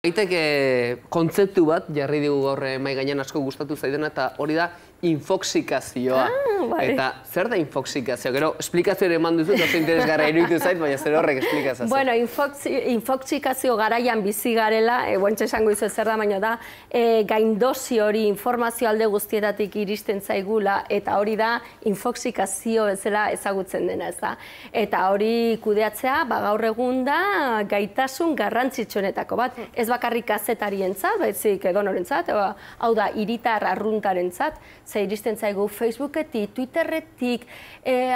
Baiteke kontzeptu bat jarri dugu gaur mahai gainean asko gustatu zaidana eta hori da infoxikazioa. Eta zer da infoxikazioa? Gero esplikazio ere eman duzu, oso interesgarra iruditu zait, baina zer horrek esplikazioa. Bueno, infoxikazio garaian bizi garela, guantxe esango izu zer da, baina da, gaindosi hori informazio alde guztietatik iristen zaigula, eta hori da infoxikazio bezala ezagutzen dena, ez da. Eta hori kudeatzea, gaur egun da gaitasun garrantzitsuenetako bat. Ez bakarrik kazetarientzat, baizik edonorentzat, hau da, hiritar arruntarentzat, ze iristen zaigu Facebooketik, Twitterretik,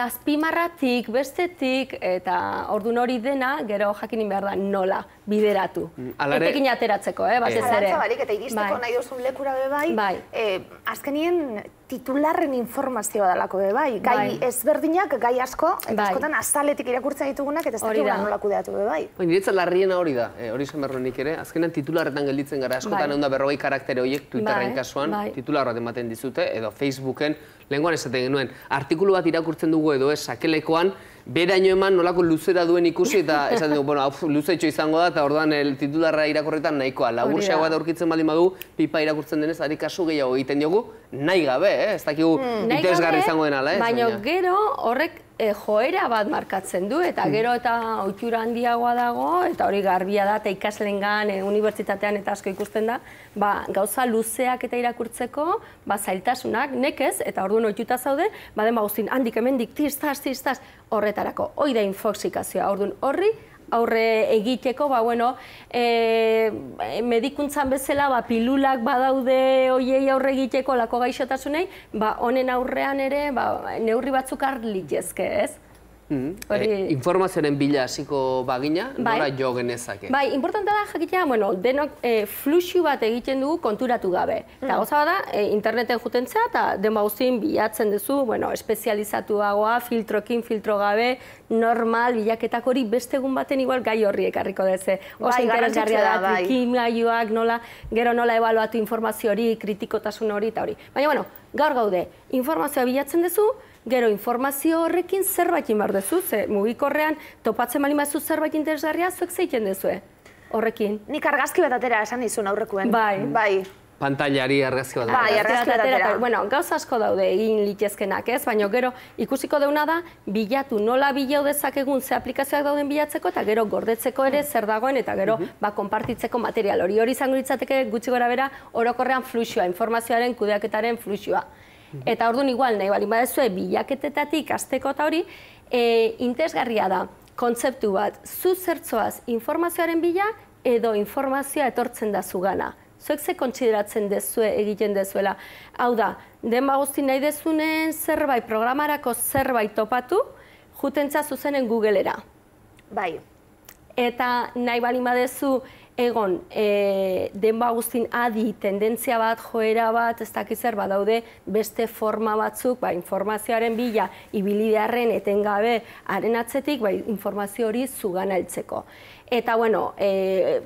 azpimarratik, bestetik, eta ordun hori dena, gero jakinin behar da nola bideratu. Etekin ateratzeko, batez ere. Eta iristeko nahi duzun lekura bebai, azkenien titularren informazioa dalako bebai. Gai ezberdinak, gai asko, eta askotan azaletik irakurtzen ditugunak, eta ez dakigula nola kudeatu bebai. Niretzat larriena hori da, hori esan behar nik ere, azkenean titularretan gelditzen gara, askotan egon da 40 karaktere horiek Twitterren kasuan, titular bat ematen dizute, edo Facebooken, lehenkoan esaten genuen, artikulu bat irakurtzen dugu edo ez, sakelekoan, beraino eman nolako luzera duen ikusi eta esaten dugu, bueno, luzetxo izango da, eta orduan titularra irakurretan nahikoa. Laburxeagoa da aurkitzen baldin badu, pipa irakurtzen denez, ari kasu gehiago egiten diogu, nahi gabe, ez dakigu interesgarri izango denala. Baina gero horrek joera bat markatzen du, eta gero eta ohitura handiagoa dago, eta hori garbia da, eta ikaslengan, unibertsitatean eta asko ikusten da, gauza luzeak eta irakurtzeko, zailtasunak, nekez, eta orduan ohituta zaude, baden guztin, handik hemendik, tistaz, horretarako. Hoi da infoxikazioa, orduan horri, aurre egiteko, medikuntzan bezala, pilulak badaude hoiei aurre egiteko lako gaixotasunei, honen aurrean ere neurri batzuk har litezke, ez? Informazioaren bila hasiko bagina, nora jo genezake? Importanta da jakitea, denok fluxu bat egiten dugu konturatu gabe. Eta gauza bada, interneten jutentzea, eta den guztien bilatzen duzu, espezializatuagoa, filtrokin, filtro gabe, normal, bilaketak hori beste egun baten igual gai horri ekarriko deze. Oso interesgarria da, trikimailuak, gero nola ebaluatu informazio hori, kritikotasun hori eta hori. Baina, gaur gaude, informazioa bilatzen duzu, gero informazio horrekin zerbait behar duzu, ze mugikorrean topatzen bali mazu zerbait interesgarria, zuek zeiten duzue horrekin. Nik argazki bat atera esan dizun aurrekuen. Bai. Pantailari argazki bat atera. Bai, argazki bat atera. Bueno, gauza asko daude egin litezkenak, ez? Baina gero ikusiko deuna da, bilatu nola bilau dezakegun ze aplikazioak dauden bilatzeko, eta gero gordetzeko ere zer dagoen, eta gero konpartitzeko material hori. Hori izango litzateke gutxi gora bera orokorrean fluxua, informazioaren kudeaketaren fluxua. Eta orduan igual, nahi bali badezue bilaketetatik azteko eta hori, interesgarria da, kontzeptu bat, zu zertzoaz informazioaren bila edo informazioa etortzen da zugana. Zuek ze kontsideratzen dezue egiten dezuela. Hau da, den guzti nahi dezunen zerbait, programarako zerbait topatu, jutentza zuzenen Google-era. Bai. Eta nahi bali badezu egon, denba guztin adi, tendentzia bat, joera bat, ez dakizer badaude beste forma batzuk, informazioaren bila, ibilidearen etengabe haren atzetik, informazio hori zugana heltzeko. Eta,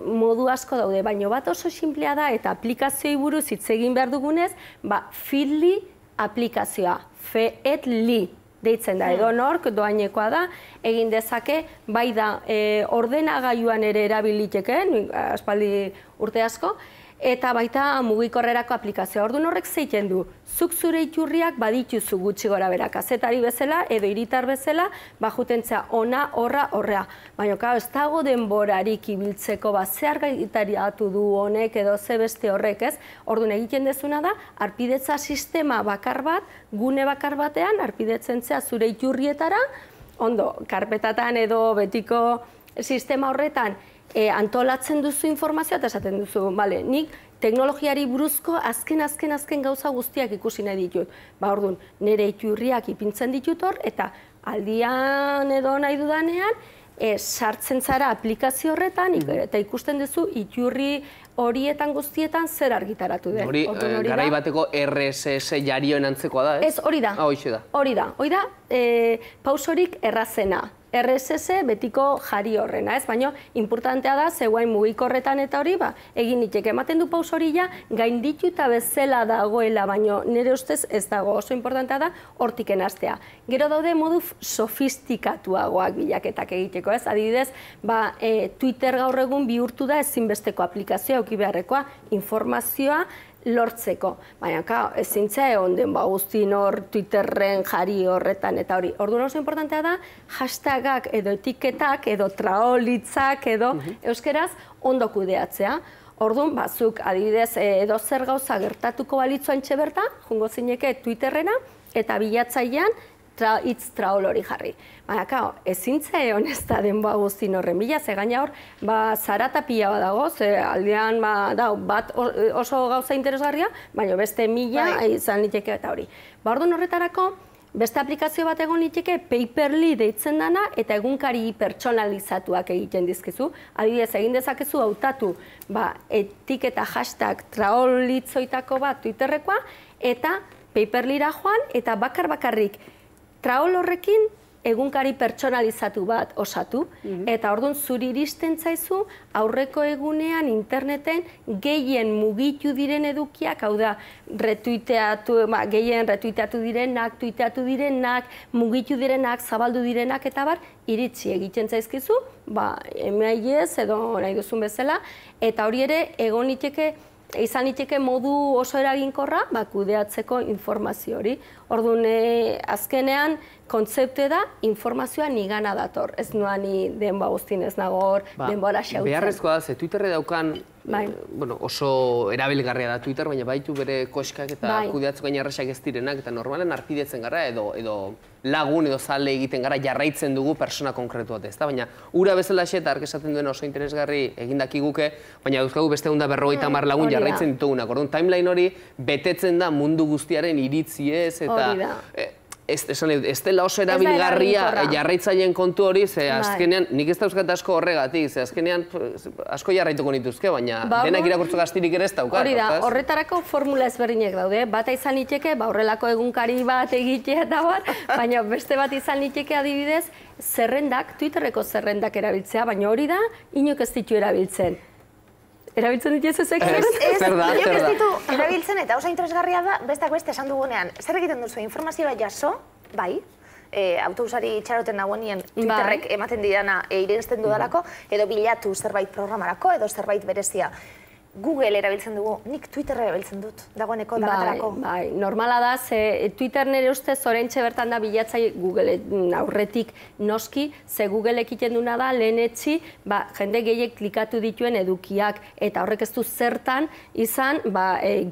modu asko daude, baina bat oso sinplea da, eta aplikazioei buruz hitz egin behar dugunez, Feedly aplikazioa, Feedly deitzen da, edo nork doainekoa da, egin dezake, bai da ordenagailuan ere erabiliteke, aspaldi urte asko, eta baita mugikorrerako aplikazioa. Orduan horrek zeiten du, zuk zure iturriak badituzu gutxi gora bera, kazetari bezala edo hiritar bezala, jutentzea ona, horra. Baina, ez dago denborarik ibiltzeko, zehar gaitariatu du honek edo ze beste horrek, ez? Orduan egiten dezuna da, arpidetza sistema bakar bat, gune bakar batean, arpidetzen zea zure iturrietara, ondo, karpetatan edo betiko sistema horretan, antolatzen duzu informazioa eta esaten duzu, nik teknologiari buruzko azken gauza guztiak ikusi nahi ditut. Orduan, nire iturriak ipintzen ditut hor, eta aldian edo nahi dudanean, sartzen zara aplikazio horretan, eta ikusten duzu iturri horietan guztietan zer argitaratu den. Hori, garai bateko RSS jarioen antzekoa da, ez? Ez, hori da. Hori da. Hori da, pausorik errazena. RSS betiko jari horrena, ez? Baina, importantea da, zegoain mugikorretan eta hori, egin nitek ematen du paus hori ja, gaindituta bezala dagoela, baina nire ustez ez dago, oso importantea da, hortiken hastea. Gero daude modu sofistikatuagoak bilaketak egiteko, ez? Adibidez, Twitter gaur egun bihurtu da ezinbesteko aplikazioa, auki beharrekoa, informazioa, lortzeko. Baina, ezin zea egon den guztin hor Twitterren jari horretan eta hori. Orduan oso importantea da, hashtagak edo etiketak edo traolitzak edo euskeraz ondo kudeatzea. Orduan, zuk adibidez edo zer gauza gertatuko balitzu antxe berta, jungo zineke Twitterrena eta bilatzailean hitz traol hori jarri. Baina, ezin zea egon ez da denboa guztin horren bila, ze gaina hor, zarata pila bat dago, ze aldean bat oso gauza interesgarria, baina beste mila izan liteke eta hori. Orduan horretarako, beste aplikazio bat egon liteke Paperly deitzen dana eta egunkari pertsonalizatuak egiten dizkizu. Adibidez, egin dezakezu hautatu etiketa hashtag traolitzoitako bat Twitterrekoa eta Paperlyra joan eta bakarrik traol horrekin egunkari pertsonalizatu bat osatu, eta orduan zuri iristen zaizu aurreko egunean interneten gehien mugitu diren edukiak, hau da, gehien retuiteatu direnak, tuiteatu direnak, mugitu direnak, zabaldu direnak, eta iritsi egiten zaizkizu, emailez edo nahi duzun bezala, eta hori ere egon izan liteke modu oso eraginkorra kudeatzeko informazio hori. Orduan, azkenean, kontzepte da, informazioa nigana dator. Ez noa ni denboa guztin ez nago hor, denboa xautzen. Beharrezkoa da, ze Twitterre daukan oso erabilgarria da Twitter, baina baitu bere koskak eta kudeatzeko gaina erresak ez direnak, eta normalen arpidetzen gara edo lagun edo zale egiten gara jarraitzen dugu persona konkretu bat ez da, baina ura bezala eta ark esaten duen oso interesgarri egindaki guke, baina dauzkagu beste 150 lagun jarraitzen ditugunak. Orduan, timeline hori betetzen da mundu guztiaren iritziez eta ez dela oso erabilgarria jarraitzaileen kontu hori, ze azkenean, nik ez dauzkat asko horregatik, ze azkenean asko jarraituko nituzke, baina denak irakurtzeko astirik ere ez daukat. Hori da, horretarako formula ezberdinek daude, bata izan liteke, horrelako egunkari bat egitea eta baina beste bat izan liteke adibidez, zerrendak, Twitterreko zerrendak erabiltzea, baina hori da, inok ez ditu erabiltzen. Erabiltzen dituzu ezek? Zer da. Ez ditu erabiltzen eta oso interesgarria da, bestak beste esan dugunean, zer egiten duzu informazioa jaso, autobusari itxaroten nagoenien Twitterrek ematen didana irensten dudalako, edo bilatu zerbait programarako, edo zerbait berezia. Google erabiltzen dugu, nik Twitter erabiltzen dut, dagoeneko dagatarako. Normala da, ze Twitter nire ustez orentxe bertan da bilatzai Google aurretik noski, ze Google ekiten duna da lehenetzi, jende gehiek klikatu dituen edukiak, eta horrek ez du zertan izan,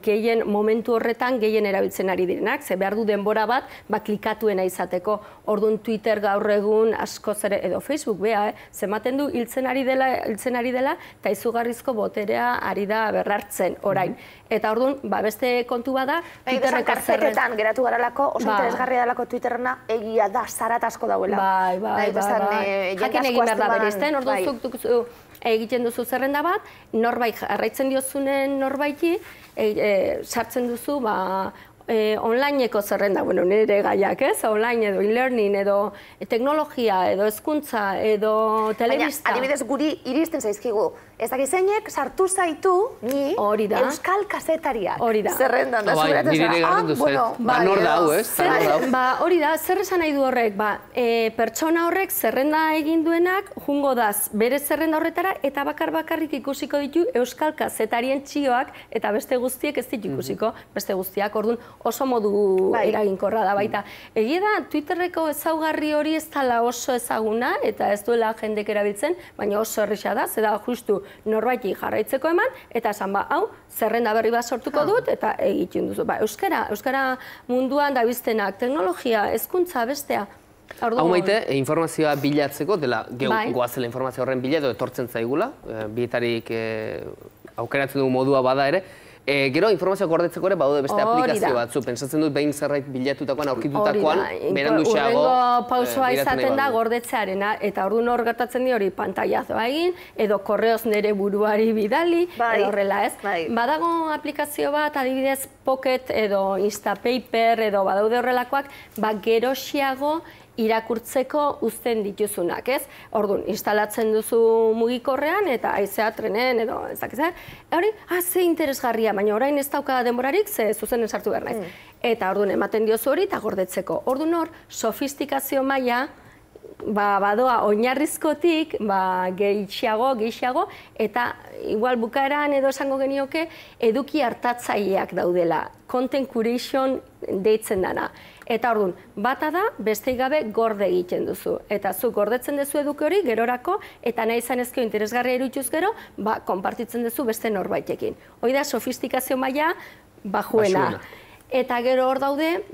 gehien momentu horretan gehien erabiltzen ari direnak, ze behar du denbora bat, klikatuena izateko. Orduan Twitter gaur egun asko zere, edo Facebook, zematen du hiltzen ari dela, eta izugarrizko boterea ari da berrartzen orain. Eta orduan, beste kontu bada, Twitterreko zerretan geratu garalako, oso interesgarria dalako Twitterrena egia da, zarat asko dauela. Jakin egin behar da bereizten, orduan zuk egiten duzu zerrenda bat, norbait jarraitzen diozunen norbaiti, sartzen duzu, onlineko zerrenda, nire gaiak ez, online edo e-learning edo teknologia edo hezkuntza edo telebista. Baina, adibidez guri iristen zaizkigu, ez dakizeinek sartu zaitu ni euskal kazetariak. Zerrendan da, zuguratzen zara. Nor da hau, ez? Hori da, zer esan nahi du horrek, pertsona horrek zerrenda egin duenak, jungo daz bere zerrenda horretara, eta bakarrik ikusiko ditu euskal kazetarien txioak, eta beste guztiek ez ditu ikusiko, beste guztiak, orduan oso modu eraginkorra da baita. Egia da, Twitterreko ezaugarri hori ez dela oso ezaguna, eta ez duela jendek erabiltzen, baina oso errisa da, zeda justu norbaiti jarraitzeko eman, eta esan hau, zerrenda berri bat sortuko dut, eta egiten duzu. Euskara munduan dabiztenak, teknologia, hezkuntza bestea. Hau maite, informazioa bilatzeko, dela goazela informazio horren bila edo etortzen zaigula, bietarik aukeratzen dugu modua bada ere, gero informazioa gordetzeko ere badaude beste aplikazio batzu. Pentsatzen dut behin zerbait bilatutakoan, aurkitutakoan, berandu xeago urrengo pausoa izaten da gordetzearena, eta orduan hor gertatzen di hori pantailazoa egin, edo korreoz nire buruari bidali, edo horrela ez. Badago aplikazio bat, adibidez Pocket edo Instapaper edo badaude horrelakoak, gero xeago irakurtzeko uzten dituzunak, ez? Orduan, instalatzen duzu mugikorrean eta haizea trenen edo ez dakiz, hori, ze interesgarria, baina orain ez dauka denborarik, ze zuzenen sartu behar naiz. Eta orduan, ematen diozu hori eta gordetzeko. Orduan hor, sofistikazio maila, badoa oinarrizkotik, gehiago, eta igual bukaeran edo esango genioke, eduki hartatzaileak daudela, content curation deitzen dana. Eta orduan, bata da, besteik gabe gorde egiten duzu. Eta zu gordetzen duzu eduki hori, gerorako, eta nahi izan ezkio interesgarria irutuz gero, konpartitzen duzu beste norbaitekin. Hoi da, sofistikazio maila bajuena. Eta gero hor daude,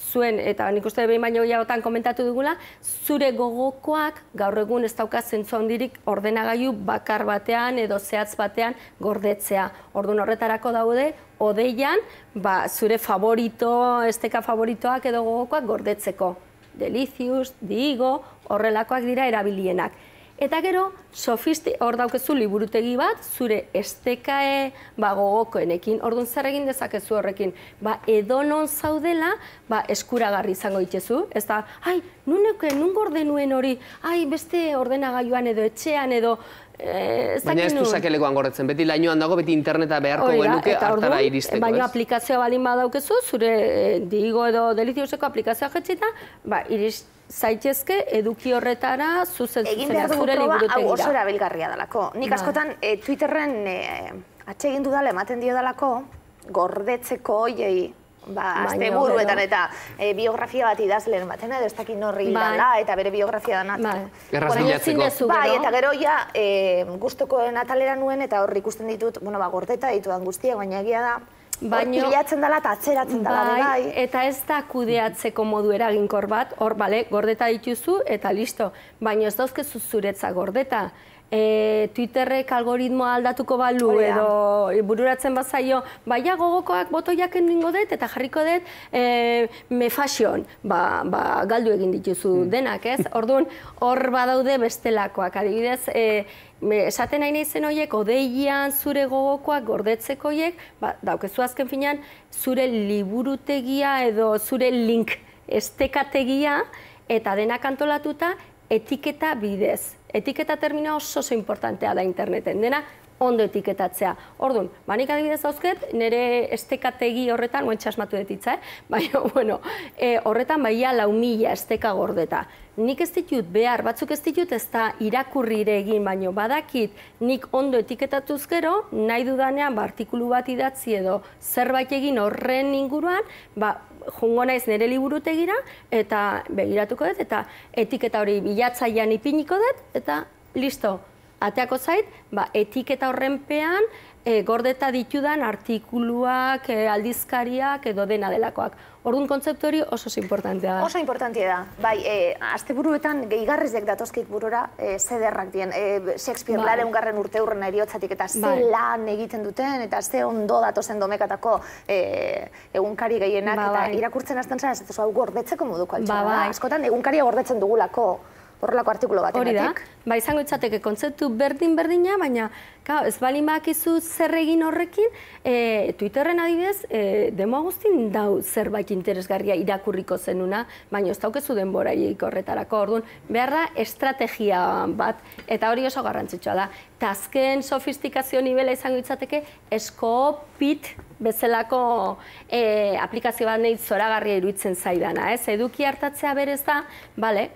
zuen, eta nik uste behin baino gehiagotan komentatu dugula, zure gogokoak gaur egun ez dauka zentzu handirik ordenagailu bakar batean edo zehatz batean gordetzea. Orduan horretarako daude, odeian, zure favorito, esteka favoritoak edo gogokoak gordetzeko. Delicious, Diigo, horrelakoak dira erabilienak. Eta gero, hor daukezu liburutegi bat, zure estekae gogokoenekin. Orduan zer egin dezakezu horrekin. Edonon zaudela, eskuragarri izango dituzu. Ez da, nun gorde nuen hori, beste ordenagailuan edo etxean edo... Baina ez du sakelekoan gordetzen, beti lainoan dago, beti interneta beharko genuke hartara iristeko, ez? Baina aplikazioa balin badaukezu, zure Diigo edo Delicioseko aplikazioa jetxita, zaitezke eduki horretara zuzen zure liburutegira. Hau oso erabilgarria dalako. Nik askotan Twitterren atsegin dudala ematen dio dalako, gordetzeko hoiei, asteburuetan eta biografia bat idazleen batena, edo ez dakit norri dala, eta bere biografia dana. Erraz bilatzeko. Eta gero ja, guztokoen atalera nuen, eta hor ikusten ditut, gordeta ditudan guztiak, baina egia da, hor pilatzen dela eta atzeratzen dela. Bai, eta ez da kudeatzeko modu eraginkor bat, hor, gordeta dituzu, eta listo. Baina ez dauzkezu zuretza gordeta. Twitterrek algoritmoa aldatuko balu edo bururatzen bazaio, gogokoak botoiak ningo dut eta jarriko dut me fashion, galdu egin dituzu denak, ez? Orduan, hor badaude bestelakoak, adibidez, esaten nahi naizen horiek, odeian zure gogokoak gordetzeko horiek, daukezu azken finean, zure liburutegia edo zure link estekategia eta denak antolatuta etiketa bidez. Etiketa termina oso importantea da interneten, dena ondo etiketatzea. Orduan, nik adibidez dauzket, nire estekategi horretan, guen txasmatu detitza, baina, horretan 4.000 esteka gordeta. Nik ez ditut behar, batzuk ez ditut ez da irakurrire egin, baina badakit nik ondo etiketatuz gero, nahi dudanean artikulu bat idatzi edo zerbait egin horren inguruan, jungo naiz nire liburutegira eta begiratuko dut eta etiketa hori bilatzailean ipiniko dut eta listo. Ateako zait, etiketa horrenpean gordeta ditudan artikuluak, aldizkariak edo dena delakoak. Orduan kontzeptu hori oso importantea da. Oso importantea da. Bai, asteburuetan gehigarrizek datozkik burura zederrak dien. Shakespeare lareungarren urteurren eriotzatik eta ze lan egiten duten eta ze ondo datozen domekatako egunkari gehienak eta irakurtzen hasten zara, ez hau gordetzeko moduko altxera. Askotan egunkaria gordetzen dugulako horrelako artikulo bat ematik. Izango itzateke kontzeptu berdina, baina ez balin bakizu zer egin horrekin, Twitterren adibidez, demo guztin dau zerbait interesgarria irakurriko zenuna, baina ez daukezu denboraik horretarako. Orduan, behar da estrategia bat, eta hori oso garrantzitsua da. Eta azken sofistikazio nivela izango itzateke, Scopit bezalako aplikazio bat nahi zoragarria iruditzen zaidana. Eduki hartatzea berez da,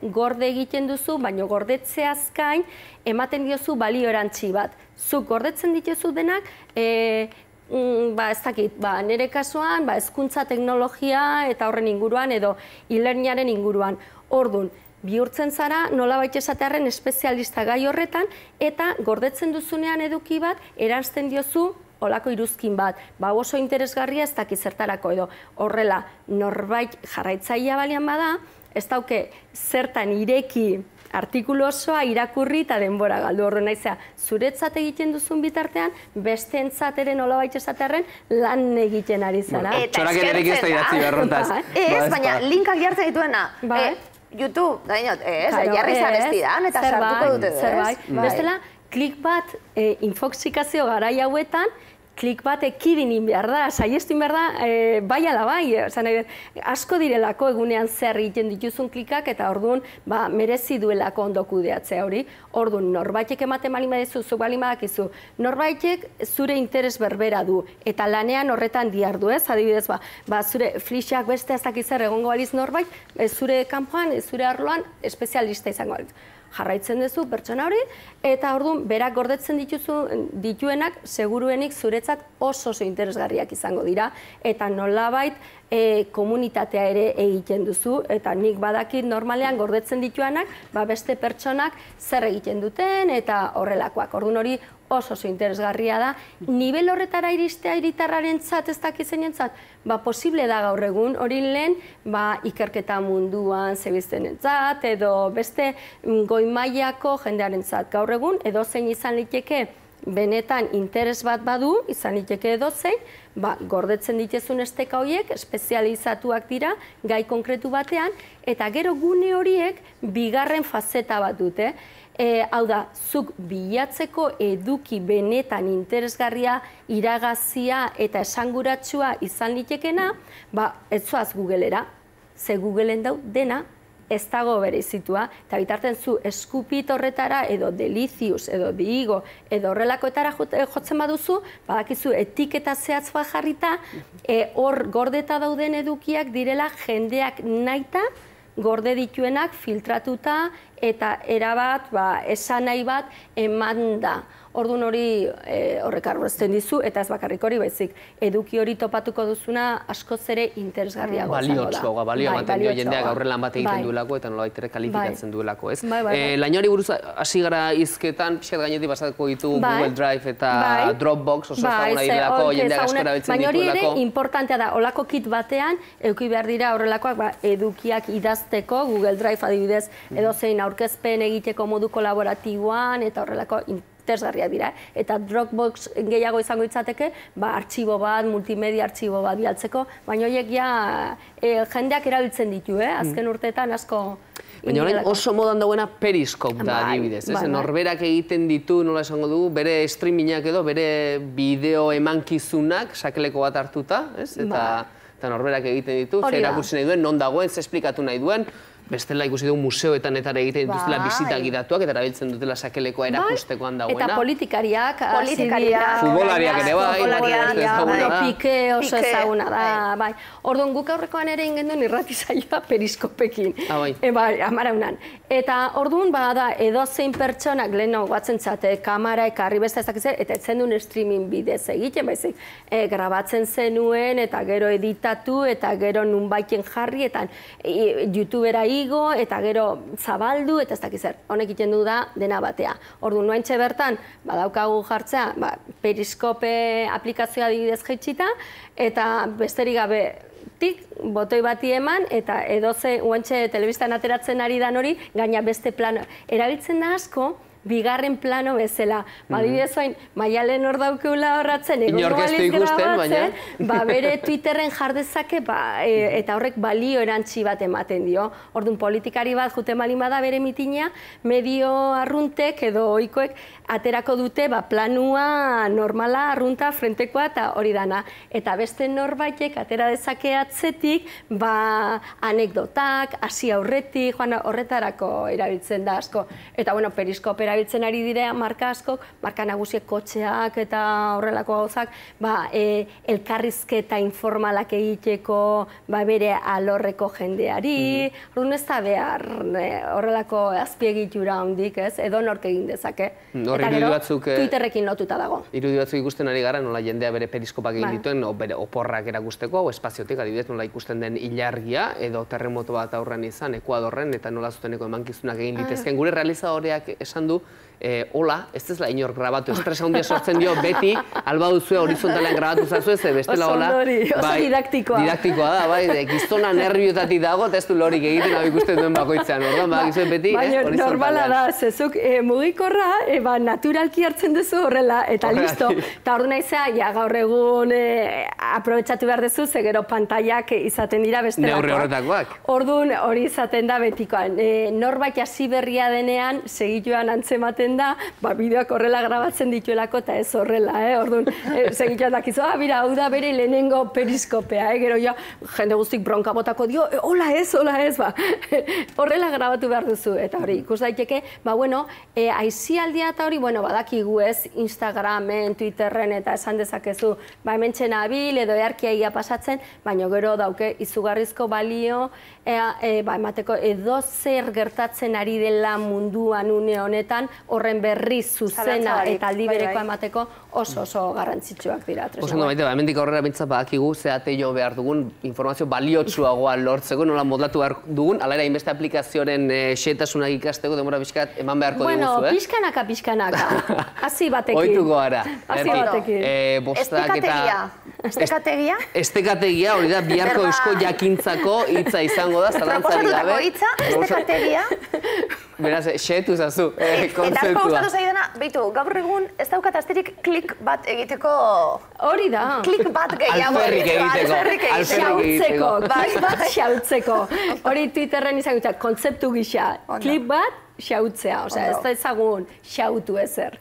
gorde egiten duzu, baina gordetzeaz gain ematen diozu balio erantzi bat. Zuk gordetzen dituzu denak, ez dakit, nire kasuan, hezkuntza teknologia eta horren inguruan edo e-learningaren inguruan. Orduan, bihurtzen zara nolabait esatearren espezialista gai horretan eta gordetzen duzunean eduki bat eranzten diozu olako iruzkin bat, oso interesgarria ez dakit zertarako edo horrela norbait jarraitzailea balian bada, ez dauke zertan ireki artikulu osoa irakurri eta denbora galdu. Horren naizea, zuretzat egiten duzun bitartean, besteentzat ere nolabait esatearren lan egiten ari zara. Txorak ederik ez da idatzi berrontaz. Ez, baina linkak jartzen dituena. YouTube, jarri zareztidan eta sartuko dute. Bestela, klik bat infoxikazio garai hauetan, klik bat ekidin behar da, saiestu behar da, bai ala bai, asko direlako egunean zer egiten dituzun klikak, eta orduan merezi duelako ondo kudeatzea hori. Orduan, norbaitek ematen bali badezu, zuk bali badakizu, norbaitek zure interes berbera du, eta lanean horretan diardu, ez? Adibidez, zure flixak beste ez dakizzer egongo baliz norbait, zure kanpoan, zure arloan, espezialista izango baliz. Jarraitzen duzu pertsona hori, eta orduan berak gordetzen dituenak seguruenik zuretzat oso interesgarriak izango dira, eta nolabait komunitatea ere egiten duzu, eta nik badakit normalean gordetzen dituanak beste pertsonak zer egiten duten eta horrelakoak. Orduan hori oso interesgarria da. Nivel horretara iristea hiritarraren zat, ez dakizeinen zat, posible da gaur egun, hori lehen ikerketa munduan zebiztenen zat, edo beste goi mailako jendearen zat. Gaur egun, edozein izan liteke benetan interes bat badu, izan liteke edozein, gordetzen dituzun esteka horiek, espezializatuak dira, gai konkretu batean, eta gero gune horiek bigarren fazeta bat dute. Hau da, zuk bilatzeko eduki benetan interesgarria, iragazia eta esanguratsua izan litekena, ez zoaz Googlera, ze Googleen dau dena ez dago bereizitua, eta bitarten zu eskupit horretara, edo Delicious, edo Diigo, edo horrelakoetara jotzen baduzu, badakizu etiketa zehatz bat jarrita, hor gordeta dauden edukiak direla jendeak nahita, gorde dituenak filtratuta eta erabat, esan nahi bat eman da. Orduan hori horrek arrozten dizu, eta ez bakarrik hori baizik. Eduki hori topatuko duzuna askoz ere interesgarriago izango da. Balio ematen dio jendeak aurrelan bat egiten duelako eta nolabait ere kalifikatzen duelako, ez? Lainari buruz hasi gara hizketan, pixkat gainetik pasatuko ditu Google Drive eta Dropbox, oso ezaguna direlako, jendeak asko erabiltzen dituelako. Baina hori ere importantea da, olako kit batean, eduki behar dira horrelakoak edukiak idazteko, Google Drive adibidez, edozein aurkezpen egiteko modu kolaboratiboan, eta horrelako interesgarriak dira. Eta Dropbox gehiago izango itzateke, artxibo bat, multimedia artxibo bat bialtzeko, baina horiek ja jendeak erabiltzen ditu, azken urteetan asko... Baina orain oso modan dagoena Periscope da adibidez, norberak egiten ditu, nola esango dugu, bere streamingak edo, bere bideo emankizunak, sakeleko bat hartuta, eta norberak egiten ditu, zer erakursi nahi duen, non dagoen, zer esplikatu nahi duen, bestela ikusi dugu museoetan eta egiten dituztela bisita gidatuak eta erabiltzen dutela sakelekoa erakustekoan dagoena. Eta politikariak, futbolariak ere bai, Pike oso ezaguna da. Orduan guk aurrekoan ere ingen duen irratizaioa periskopekin, amaraunan. Eta orduan da edozein pertsonak leheno guatzen zate, kamara ekarri beste ez dakitzen, eta etzen duen streaming bidez egiten, baizik grabatzen zenuen eta gero editatu eta gero nunbaiten jarri eta YouTubera igo eta gero zabaldu eta ez dakizer. Honek egiten du da dena batea. Orduan nuaintxe bertan badaukagu jartzea Periskope aplikazioa adibidez jaitsita eta besterik gabe botoi bati eman eta edoze uantxe telebistan ateratzen ari dan hori gaina beste plano. Erabiltzen da asko bigarren plano bezala. Adibidez oain, Maialen hor daukeula horratzen, egongo baliz grabatzen, bere Twitterren jardezake eta horrek balio erantzi bat ematen dio. Orduan politikari bat juten balin bada bere mitina, medio arruntek edo oikoek aterako dute planua normala, arrunta, frentekoa eta hori dana. Eta beste norbaitek atera dezake atzetik anekdotak, hasi aurretik, horretarako erabiltzen da asko. Eta Periskope erabiltzen ari dira marka askok, marka nagusiek kotxeak eta horrelako gauzak, elkarrizketa informalak egiteko bere alorreko jendeari, orduan ez da behar horrelako azpiegitura hondik, edo nork egin dezake. Eta gero, Twitterrekin lotuta dago. Irudi batzuk ikusten ari gara, nola jendea bere periskopak egin dituen, bere oporrak erakusteko, hau espaziotik, adibidez, nola ikusten den ilargia, edo terremoto bat aurrean izan, Ekuadorren, eta nola zuteneko emankizunak egin ditezken. Gure realizadoreak esan du, hola, ez ezla inor grabatu, estresa handia sortzen dio, beti, alba duzue horizontalean grabatu zazu ez, bestela hola. Oso didaktikoa. Didaktikoa da, bai, giztona nerviotatik dago, eta ez du lorik egiten hau ikusten duen bakoitzean, orduan, badakizuen beti, horizontalean. Baina normala da, zezuk mugikorra, naturalki hartzen duzu horrela, eta listo. Eta ordu naizea, gaur egun aprobetsatu behar duzu, ze gero pantaiak izaten dira bestelakoak. Neurri horretakoak. Orduan hori izaten da betikoan. Norbait hasi berria denean, segituan antzematen esaten da, bideoak horrela grabatzen dituelako eta ez horrela, orduan, segitzen dakizu, bira, hau da bere lehenengo periskopea, gero ja, jende guztik bronka botako dio, hola ez, horrela grabatu behar duzu, eta hori, ikus daiteke, aizialdia eta hori, badakigu ez, Instagramen, Twitterren eta esan dezakezu, hemen txenabil edo earkia pasatzen, baina gero dauke izugarrizko balio, emateko edo zer gertatzen ari dela munduan une honetan, horren berri zuzena eta aldi berekoa emateko oso garrantzitsuak dira. Oso ondo, Maite, hemendik aurrera bintzat badakigu zeate jo behar dugun informazio baliotsuagoa lortzeko, nola modlatu behar dugun, ala ere hainbeste aplikazioaren xetasunak ikasteko, demora pixkat eman beharko diguzu, Pixkanaka. Hasi batekin. Oituko gara. Hasi batekin. Estekategia? Estekategia, hori da, biharko eusko jakintzako hitza izango da, zalantzari gabe. Proposatutako hitza, estekategia. Beraz, xetu zazu, kontzeptua. Eta asko gustatu zaidana, beitu, gaur egun ez daukat asterik klik bat egiteko... Hori da. Klik bat gehiago. Alferrik egiteko. Xautzeko. Hori Twitterren izan kontzeptu gisa. Klik bat, xautzea. Ez da ezagun xautu ezer.